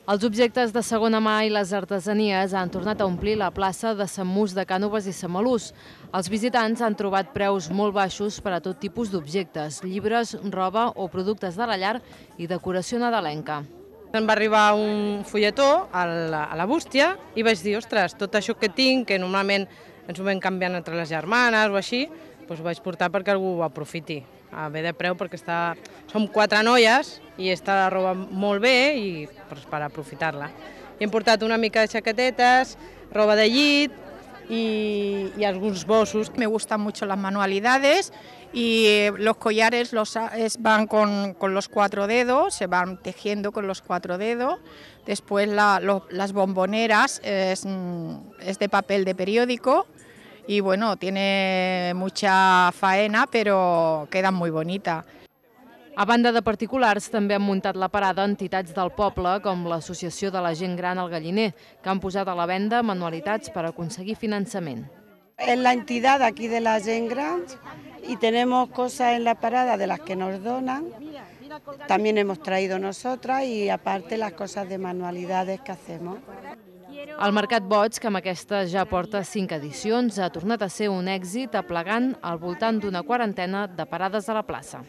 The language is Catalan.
Els objectes de segona mà i les artesanies han tornat a omplir la plaça de Sant Mus de Cànoves i Samalús. Els visitants han trobat preus molt baixos per a tot tipus d'objectes, llibres, roba o productes de la llar i decoració nadalenca. Em va arribar un fulletó a la bústia i vaig dir, ostres, tot això que tinc, que normalment ens ho vam canviant entre les germanes o així, doncs ho vaig portar perquè algú ho aprofiti, a bé de preu, perquè som 4 noies i està la roba molt bé i per aprofitar-la. Hem portat una mica de xaquetetes, roba de llit y algunos bossos. Me gustan mucho las manualidades y los collares van con los 4 dedos, se van tejiendo con los 4 dedos. Después las bomboneras es de papel de periódico y bueno, tiene mucha faena, pero quedan muy bonitas. A banda de particulars, també han muntat la parada entitats del poble, com l'Associació de la Gent Gran al Galliner, que han posat a la venda manualitats per aconseguir finançament. Es la entidad aquí de la Gent Gran y tenemos cosas en la parada de las que nos donan. También hemos traído nosotras y aparte las cosas de manualidades que hacemos. El Mercat Boig, que amb aquesta ja porta 5 edicions, ha tornat a ser un èxit aplegant al voltant d'una quarantena de parades a la plaça.